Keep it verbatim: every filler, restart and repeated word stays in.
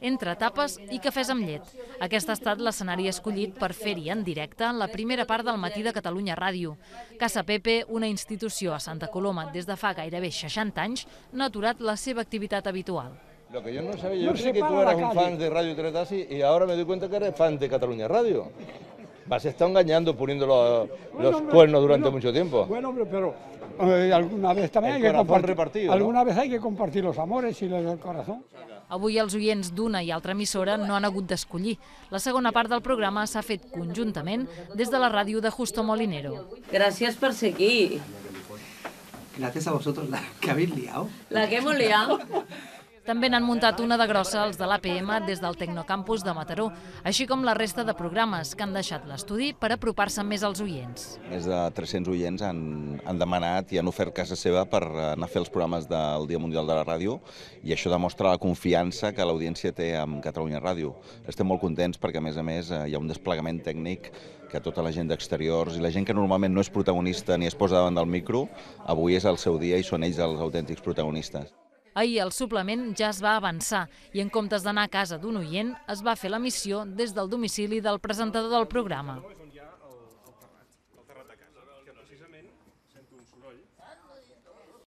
entre tapes i cafès amb llet. Aquest ha estat l'escenari escollit per fer-hi en directe la primera part del Matí de Catalunya Ràdio. Casa Pepe, una institució a Santa Coloma des de fa gairebé seixanta anys, no ha aturat la seva activitat habitual. Lo que yo no sabía, yo creí que tú eras un fan de Radio Tres Tassi y ahora me doy cuenta que eres fan de Cataluña Radio. Vas a estar engañando, poniendo los, los bueno, hombre, cuernos durante bueno, mucho tiempo. Bueno, hombre, pero eh, alguna vez también hay que compartir. Repartido, alguna ¿no? vez hay que compartir los amores y el corazón. Avui els oients d'una i altra emissora no han hagut d'escollir. La segona part del programa s'ha fet conjuntament des de la ràdio de Justo Molinero. Gràcies per ser aquí. Gracias a vosotros, la que habéis liado. La que hemos liado. També n'han muntat una de grossa els de l'A P M des del Tecnocampus de Mataró, així com la resta de programes que han deixat l'estudi per apropar-se més als oients. Més de tres-cents oients han, han demanat i han ofert casa seva per anar a fer els programes del Dia Mundial de la Ràdio i això demostra la confiança que l'audiència té amb Catalunya Ràdio. Estem molt contents perquè, a més a més, hi ha un desplegament tècnic que tota la gent d'exteriors i la gent que normalment no és protagonista ni es posa davant del micro, avui és el seu dia i són ells els autèntics protagonistes. Ahir el suplement ja es va avançar i en comptes d'anar a casa d'un oient es va fer l'emissió des del domicili del presentador del programa.